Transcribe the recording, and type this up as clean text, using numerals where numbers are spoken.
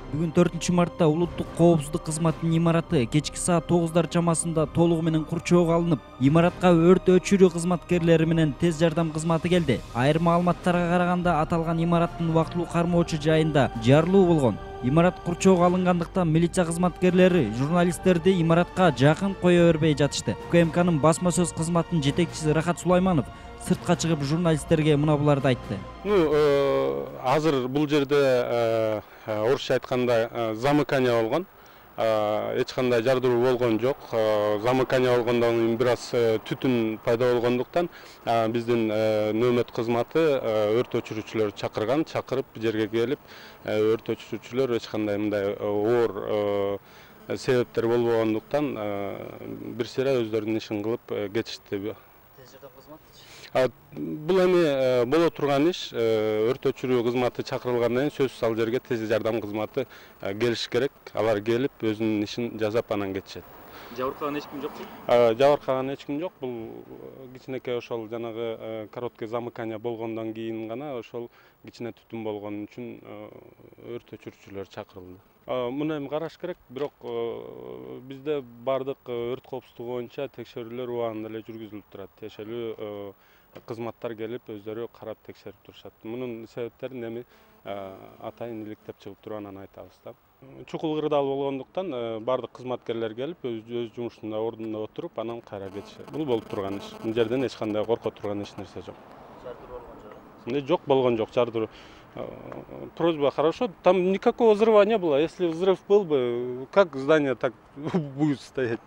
Бүгүн 4-мартта улуттук коопсуздук кызматынын имараты кечки саат 9 чамасында толугу менен курчоого алынып, имаратка өрт өчүрүү кызматкерлери менен тез жардам кызматы келди. Айрым маалыматтарга караганда аталган имараттын убактылуу кармоочу жайында жарылуу болгон. Имарат курчоого алынгандыктан милиция кызматкерлери журналисттерди имаратка жакын кое бербей жатышты. УКМКнын басма сөз кызматынын жетекчиси Рахат Сулайманов сыртка чыгып журналисттерге мына буларды айтты. Азыр бул жерде орусча айтканда замыкание болгон. Эч кандай жардыруу болгон жок. Замыкание болгондон кийин бир аз түтүн пайда болгондуктан биздин нөөмөт кызматы өрт өчүрүүчүлөрдү чакырып жерге келип, өрт өчүрүүчүлөр эч кандай мындай оор себептер болбогондуктан бир сыйра өздөрүнүн ишин кылып кетишти. Бул эми боло турган иш. Өрт өчүрүү кызматы чакырылгандан кийин сөзсүз ал жерге тез жардам кызматы келиш керек. Алар келип өзүнүн ишин жасап анан кетишет. Жабыркаган эч ким жокпу? Жабыркаган эч ким жок. Бул кичинекей ошол жанагы короткий замыкание болгондон кийин гана ошол кичине түтүн болгон үчүн өрт өчүрүүчүлөр чакырылды. Муну эми караш керек, бирок бизде бардык өрт коопсуздугу боюнча текшерүүлөр убагында эле жүргүзүлүп турат. Тиешелүү кызматтар келип өздөрү карап текшерип турушат. Мунун себептерин эми атайын иликтеп чыгып туруп анан айтабыз да. Чукул кырдаал болгондуктан бардык кызматкерлер келип өз жумушунда ордунда отуруп анан кайра кетишет. Бул болуп турган иш. Бул жерден эч кандай корко турган эч нерсе жок. Жардыруу болгон жок? Жок, болгон жок жардыруу. Просьба, хорошо, там никакого взрыва не было. Если взрыв был бы, как здание так будет стоять?